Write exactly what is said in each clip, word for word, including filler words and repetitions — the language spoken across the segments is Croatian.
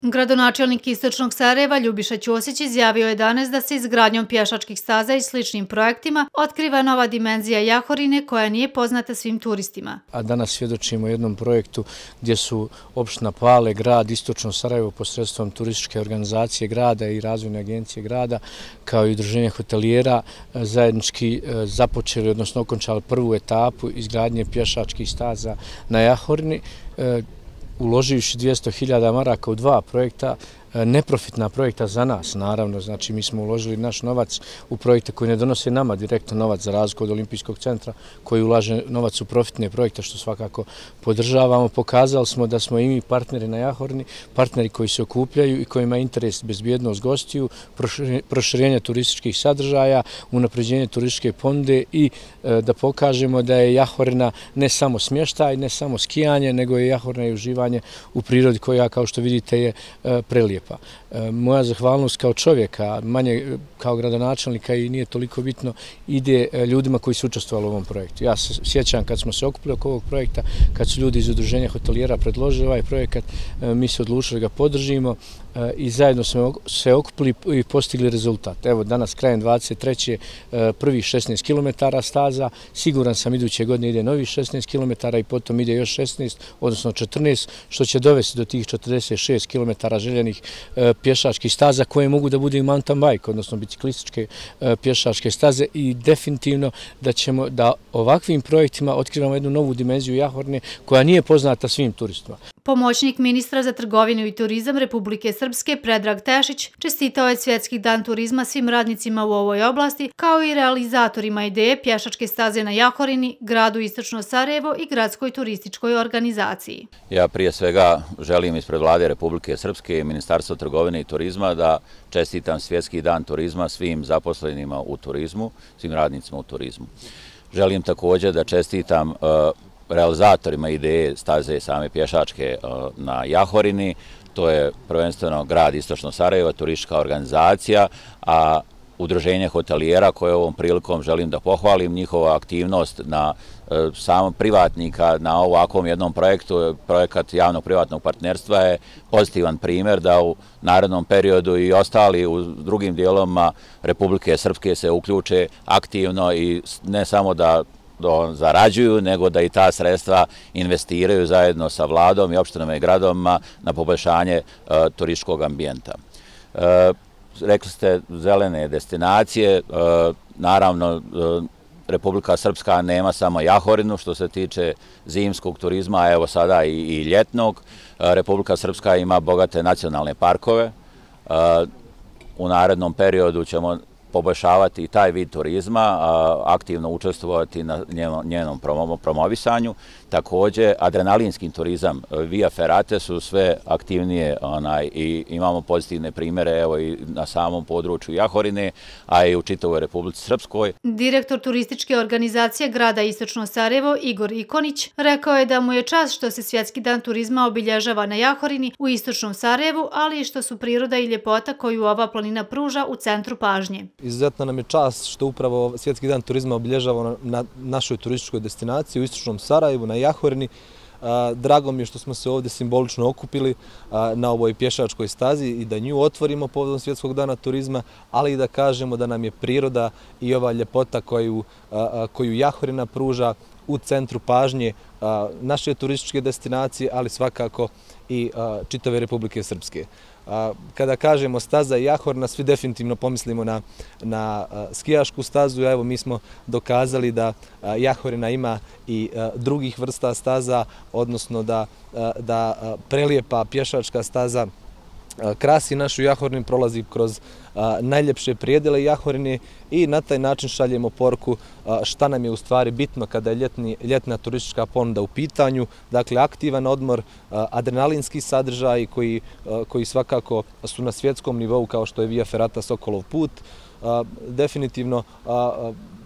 Gradonačelnik Istočnog Sarajeva Ljubiša Ćosić izjavio je danas da se izgradnjom pješačkih staza i sličnim projektima otkriva nova dimenzija Jahorine koja nije poznata svim turistima. A danas svjedočimo jednom projektu gdje su opština Pale, grad Istočno Sarajevo posredstvom turističke organizacije grada i razvojne agencije grada kao i udruženje hotelijera zajednički započeli, odnosno okončali prvu etapu izgradnje pješačkih staza na Jahorini, uloživši dvjesto hiljada maraka u dva projekta, neprofitna projekta za nas, naravno. Znači, mi smo uložili naš novac u projekte koji ne donose nama direktno novac za razliku od Olimpijskog centra koji ulaže novac u profitne projekte, što svakako podržavamo. Pokazali smo da smo i mi partneri na Jahorini, partneri koji se okupljaju i kojima je interes bezbjednost gostiju, proširenje turističkih sadržaja, unapređenje turističke ponude i da pokažemo da je Jahorina ne samo smještaj, ne samo skijanje, nego je Jahorina i uživanje u prirodi koja, kao što vidite, je prelijepa. Moja zahvalnost kao čovjeka, manje kao gradonačelnika i nije toliko bitno, ide ljudima koji su učestvovali u ovom projektu. Ja se sjećam kad smo se okupili oko ovog projekta, kad su ljudi iz udruženja hotelijera predložili ovaj projekat, mi se odlučili da ga podržimo i zajedno smo se okupili i postigli rezultat. Evo danas krajem dvadeset treće prvih šesnaest kilometara staza, siguran sam iduće godine ide novih šesnaest kilometara i potom ide još šesnaest, odnosno četrnaest, što će dovesti do tih četrdeset šest kilometara željenih pješačkih staza koje mogu da budu i mountain bike, odnosno biciklističke pješačke staze i definitivno da ćemo da ovakvim projektima otkrivamo jednu novu dimenziju Jahorine koja nije poznata svim turistima. Pomoćnik ministra za trgovinu i turizam Republike Srpske Predrag Tešić čestitao je Svjetski dan turizma svim radnicima u ovoj oblasti kao i realizatorima ideje pješačke staze na Jahorini, gradu Istočno Sarajevo i gradskoj turističkoj organizaciji. Ja prije svega želim ispred Vlade Republike Srpske i Ministarstva trgovine i turizma da čestitam Svjetski dan turizma svim zaposlenima u turizmu, svim radnicima u turizmu. Želim također da čestitam realizatorima ideje staze same pješačke na Jahorini. To je prvenstveno grad Istočno Sarajevo, turistička organizacija, a udruženje hotelijera koje ovom prilikom želim da pohvalim njihova aktivnost na samom privatnika na ovakvom jednom projektu. Projekat javno-privatnog partnerstva je pozitivan primjer da u narednom periodu i ostali u drugim dijelovima Republike Srpske se uključe aktivno i ne samo da zarađuju, nego da i ta sredstva investiraju zajedno sa vladom i opštinama i gradovima na poboljšanje turističkog ambijenta. Rekli ste zelene destinacije, naravno Republika Srpska nema samo Jahorinu što se tiče zimskog turizma, a evo sada i ljetnog. Republika Srpska ima bogate nacionalne parkove. U narednom periodu ćemo poboljšavati i taj vid turizma, aktivno učestvovati na njenom promovisanju. Također, adrenalinski turizam, via ferate su sve aktivnije i imamo pozitivne primjere evo i na samom području Jahorine, a i u čitavoj Republici Srpskoj. Direktor turističke organizacije grada Istočno Sarajevo Igor Ikonić rekao je da mu je čast što se Svjetski dan turizma obilježava na Jahorini u Istočnom Sarajevu, ali i što su priroda i ljepota koju ova planina pruža u centru pažnje. Izuzetno nam je čast što upravo Svjetski dan turizma obilježava na našoj turističkoj destinaciji u Istočnom Sarajevu, na Jahorini. Drago mi je što smo se ovdje simbolično okupili na ovoj pješačkoj stazi i da nju otvorimo povodom Svjetskog dana turizma, ali i da kažemo da nam je priroda i ova ljepota koju Jahorina pruža u centru pažnje naše turističke destinacije, ali svakako i čitave Republike Srpske. Kada kažemo staza Jahorina, svi definitivno pomislimo na, na skijašku stazu. Evo, mi smo dokazali da Jahorina ima i drugih vrsta staza, odnosno da, da prelijepa pješačka staza krasi našu Jahorinu, prolazi kroz najljepše prijedele Jahorine i na taj način šaljemo poruku šta nam je u stvari bitno kada je ljetni, ljetna turistička ponuda u pitanju. Dakle, aktivan odmor, adrenalinski sadržaj koji, koji svakako su na svjetskom nivou kao što je Via Ferrata Sokolov put. Definitivno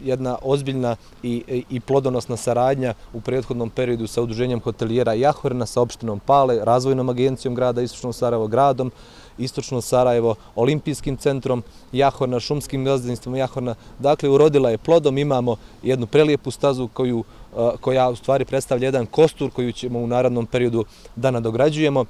jedna ozbiljna i, i plodonosna saradnja u prethodnom periodu sa udruženjem hotelijera Jahorina, sa opštinom Pale, razvojnom agencijom grada Istočno Sarajevo, gradom Istočno Sarajevo, Olimpijskim centrom Jahorina, šumskim gazdinstvom Jahorina. Dakle, urodila je plodom, imamo jednu prelijepu stazu koju, koja u stvari predstavlja jedan kostur koju ćemo u narednom periodu da nadograđujemo.